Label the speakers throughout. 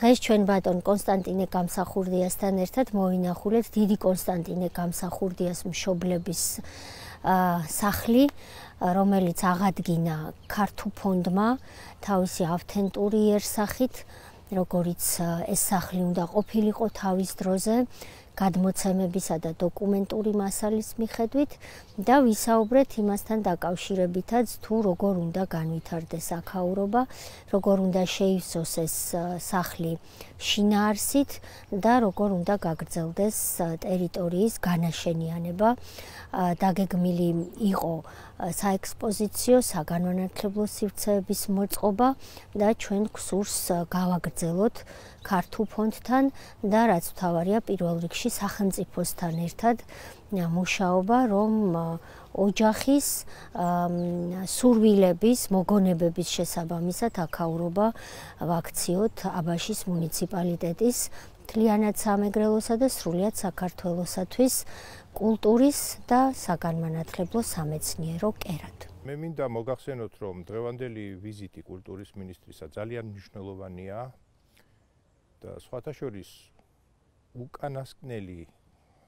Speaker 1: დღეს ჩვენ ბატონ კონსტანტინე გამსახურდიასთან ერთად მოვინახულეთ დიდი კონსტანტინე გამსახურდიას მშობლების სახლი, რომელიც აღადგინა ქართულ ფონდმა თავისი ავთენტური იერსახით, როგორიც ეს სახლი უნდა ყოფილიყო თავის დროზე, გადმოცემებისა და დოკუმენტური მასალის მიხედვით და ვისაუბრეთ იმასთან დაკავშირებითაც თუ როგორ უნდა განვითარდეს აქაურობა, როგორ უნდა შეივსოს ეს სახლი შინაარსით და როგორ უნდა გაგრძელდეს ტერიტორიის განაშენიანება. დაგეგმილი იყო საექსპოზიციო, საგანმანათლებლო სივრცეების მოწყობა და ჩვენ გსურს გავაგრძელოთ ქართულ ფონდთან და რაც მთავარია პირველ რიგში სახელმწიფოსთან ერთად მუშაობა, რომ ოჯახის სურვილების, მოგონებების შესაბამისად აქაურობა ვაქციოთ აბაშის მუნიციპალიტეტის მთლიანად სამეგრელოსა და სრულიად საქართველოსათვის კულტურის და საგანმანათლებლო სამეცნიერო კერად.
Speaker 2: მე მინდა მოგახსენოთ, რომ დღევანდელი ვიზიტი კულტურის მინისტრისა ძალიან მნიშვნელოვანია და სხვათა შორის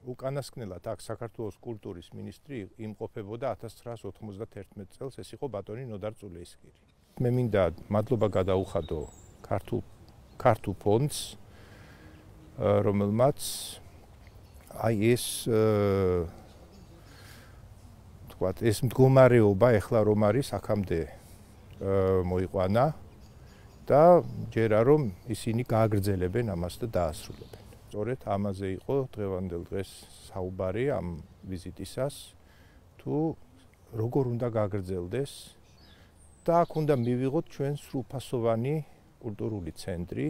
Speaker 2: უკანასკნელად აქ საქართველოს კულტურის მინისტრი იმყოფებოდა 1991 წელს, ეს იყო ბატონი ნოდარ წულეისკირი. მე მინდა მადლობა გადაუხადო ქართულ ფონდს, რომელმაც ეს მდგომარეობა ეხლა რომ არის აქამდე მოიყვანა და ჯერა რომ ისინი გააგრძელებენ ამას და დაასრულებენ. სწორედ ამაზე იყო დღევანდელ დღეს საუბარი ამ ვიზიტისას, თუ როგორ უნდა გააგრძელდეს და აქ უნდა მივიღოთ ჩვენ სრულფასოვანი კულტურული ცენტრი,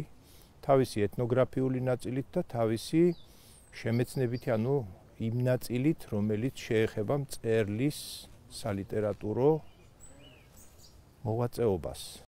Speaker 2: თავისი ეთნოგრაფიული ნაწილით და თავისი შემეცნებითი, ანუ იმ ნაწილით, რომელიც შეეხება მწერლის სალიტერატურო მოღვაწეობას.